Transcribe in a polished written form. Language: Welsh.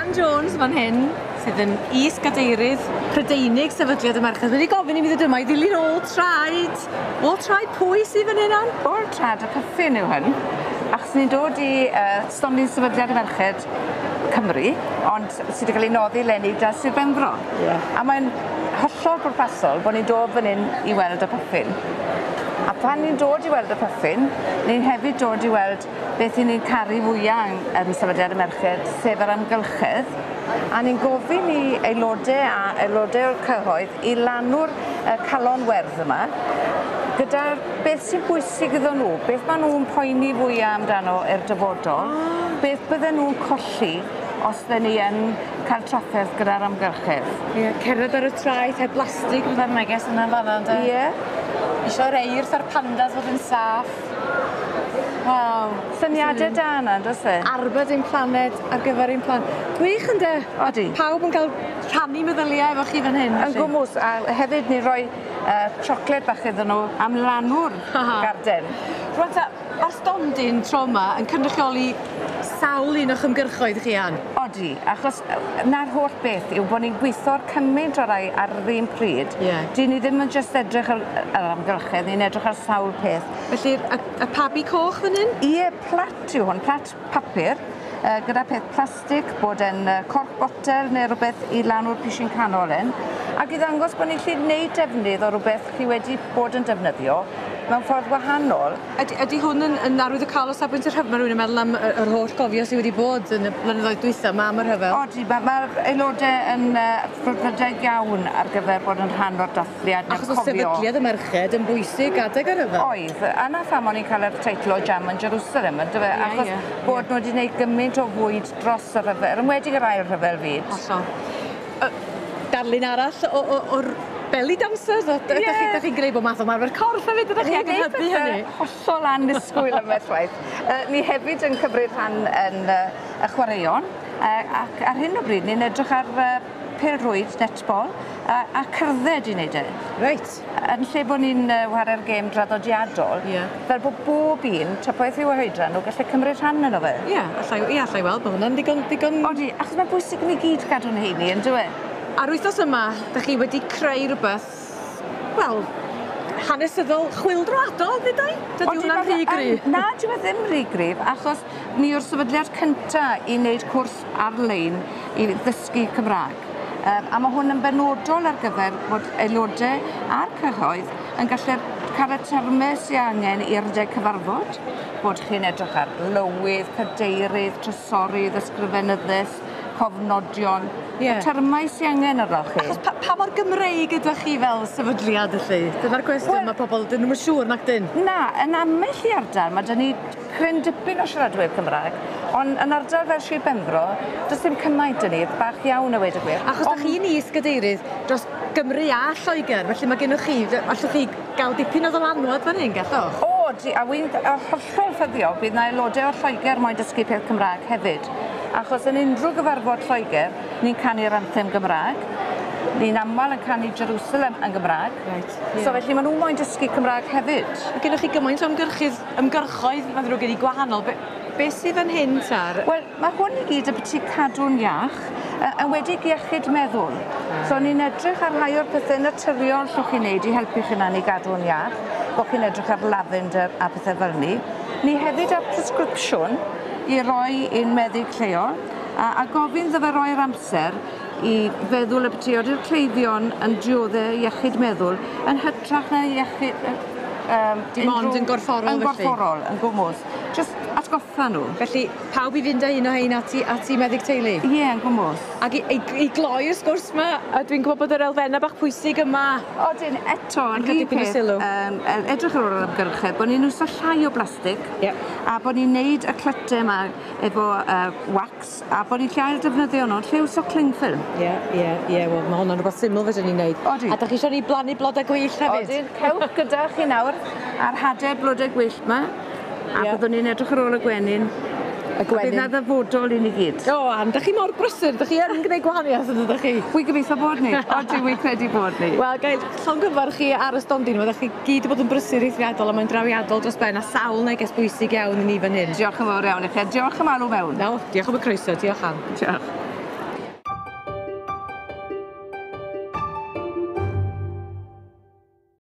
Ann Jones fan hyn, sydd yn is-gadeirydd Prydeinig Sefydliad y Merched, wedi gofyn i mi ddod yma i ddilyn ôl traed. Ôl traed pwy sydd fan hyn, Ann? Ôl traed y puffin yw hyn, achos ni'n dod i stondin Sefydliad y Merched Cymru, ond sy 'di ca'l 'i noddi leni 'da Sir Benfro. Ie. A mae'n hollol bwrpasol bo' ni'n dod fan 'yn i weld y puffin. A pan ni'n dod i weld y puffin, ni'n hefyd dod i weld beth 'yn ni'n caru fwya yng yn Sefydliad y Merched, sef yr amgylchedd, a ni'n gofyn i aelode a aelode o'r cyhoedd i lanw'r yy calon werdd yma gyda beth sy'n bwysig iddo nhw, beth ma' nw'n poeni fwya amdano i'r dyfodol, beth bydden nw'n colli os 'dden ni yn ca'l trafferth gyda'r amgylchedd. Ie, cerdded ar y traeth heb blastig fatha'r neges yna fan 'na ynde? Ie. Isio'r eirth a'r pandas fod yn saff. Waw. Syniade da 'na on'd o's e? Arbed ein planed ar gyfer ein plant. Gwych ynde? Odi. Pawb yn ca'l rhannu meddyliau efo chi fan hyn. Yn gwmws a hefyd ni roi siocled bach iddyn nhw am lanw'r garden. Rŵan ta, ma'r stondin tro 'ma yn cynrychioli sawl un o'ch ymgyrchoedd chi Ann? Odi, achos 'na'r holl beth yw bo' ni'n gwitho ar cymaint o rai ar yr un pryd. Ie. 'Dyn ni ddim yn jyst edrych ar yr amgylchedd, ni'n edrych ar sawl peth. Felly y pabi coch fan 'yn? Ie, plat yw hwn, plat papur gyda peth plastig, bod e'n corc botel ne' rwbeth i lanw'r pishyn canol 'yn ac i ddangos bo' ni'n gallu neud defnydd o rwbeth chi wedi bod yn defnyddio mewn ffordd wahanol. Ydy ydy hwn yn yn arwyddocaol o safbwynt y rhyfel? Ma' rywun yn meddwl am y yr holl gofio sy wedi bod yn y blynyddoedd dwytha 'ma am y rhyfel. Odi ma' ma'r aelode yn frwdfrydig iawn ar gyfer bod yn rhan o'r dathliad ne'r Achos o'dd cofio. sefydliad y merched yn bwysig adeg y rhyfel. Oedd a 'na pham o'n i'n ca'l yr teitl o Jam yn Jerusalem on'd yfe? Ie Achos ie. bod nw 'di neud gymaint o fwyd dros y rhyfel yn enwedig yr ail rhyfel fyd. Hollol. Darlun arall o o o'r belly dancers o 'dych chi 'dych chi'n greu bob math o ymarfer corff hefyd ydych chi ag yn hybu hynny? Hollol annisgwyl ambell waith. Ni hefyd yn cymryd rhan yn y chwaraeon ac ar hyn o bryd ni'n edrych ar pêl-rwyd, netball a cerdded i neud e. Reit. Yn lle bo' ni'n ware'r gêm draddodiadol. Ie. Fel bo' bob un, ta beth yw eu hoedran nw, gallu cymryd rhan yno fe. Ie, allai ie allai weld bo' hwnna'n ddigon digon... Odi, achos ma'n bwysig i ni gyd gadw'n heini on'd yw e? A'r wythnos yma, 'dych chi wedi creu rwbeth, wel, hanesyddol chwyldroadol, ddedai? Dydy hwnna'n rhy gry? Na, dyw e ddim rhy gryf, achos ni yw'r sefydliad cynta i wneud cwrs ar-lein i ddysgu Cymra'g. A ma' hwn yn benodol ar gyfer bod aelode a'r cyhoedd yn gallu cael y terme sy angen i rydeg cyfarfod, bod chi'n edrych ar lywydd, cadeirydd, trysorydd, ysgrifenyddes, cofnodion, Ie. y termau sy angen arnoch chi. Achos pa, pa mor Gymreig ydych chi fel sefydliad felly? Dyna'r cwestiwn Wel- mae pobl, dyn nhw'm yn siŵr nac dyn? Na, yn ambell i ardal, ma' 'da ni cryn dipyn o siaradwyr Cymra'g, ond yn ardal fel Sir Benfro, does dim cymaint 'da ni, bach iawn a weud y gwir. Achos 'dach chi'n is-gadeirydd dros Gymru a Lloegr, felly mae gennych chi, allwch chi gael dipyn o ddylanwad fan hyn, gallwch? O, di, a wi'n hollol ffyddiog bydd 'na aelodau o Lloegr moyn dysgu peth Cymra'g hefyd. Achos yn unrhyw gyfarfod Lloegr, ni'n canu'r anthem Gymra'g, ni'n aml yn canu Jerusalem yn Gymra'g. Reit, So felly ma' nhw moyn dysgu Cymra'g hefyd. Mae gennych chi gymaint o ymgyrchydd, ymgyrchoedd, mae'n ddrwg gen i, gwahanol. Be, be sydd fan hyn, tar? Wel, mae hwn i gyd ambyti cadw'n iach, enwedig iechyd meddwl. So ni'n edrych ar rhai o'r pethe naturiol llwch chi wneud i helpu chi hunan i gadw'n iach, bod chi'n edrych ar lavender a pethe fel 'ny. Ni hefyd ar presgripsiwn i roi i'n meddyg lleol, a gofyn iddo fe roi'r amser i feddwl ambyti ody'r cleifion yn diodde iechyd meddwl yn hytrach na iechyd Dim ond yn gorfforol yn felly? gorfforol, yn gwmws. Jyst atgoffa nhw. Felly, pawb i fynd â un o hein at i meddyg teulu? Ie, yn gwmws. Ac i gloi'r sgwrs 'ma, a dwi'n gwybod bod yr elfennau bach pwysig yma. Odyn, eto, Yn yr cael un dipyn o peth, sylw. edrych ar ôl yr amgylchedd, bod ni'n iwso llai o blastig. Ie. A bod ni'n neud y clyte yma efo wax, a bod ni'n lle ail defnyddio nhw, lle iwso cling film. Ie, ie, ie, wel, ma' hwnna'n rhywbeth syml fedrwn ni wneud. Odi. A 'dach chi isio ni blannu blodau gwyllt hefyd? Odyn, cewch gyda chi nawr a'r hade blodau gwyllt 'ma, a Ie. byddwn ni'n edrych ar ôl y gwenyn. Y gwenyn. A bydd 'na ddyfodol i ni gyd. O, Ann, 'dach chi mor brysur, 'dach chi yn gwneud gwahaniaeth yn dydych chi? Wi'n gobeithio bod ni. Odi, wi'n credu bod ni. Wel, gai llongyfarch chi ar y stondin, ydych chi gyd wedi bod yn brysur eithriadol a mae'n drawiadol dros ben a sawl neges bwysig iawn i ni fan hyn. Diolch yn fawr iawn i chi, a diolch am alw mewn. No, diolch am y croeso, diolch Ann. Diolch.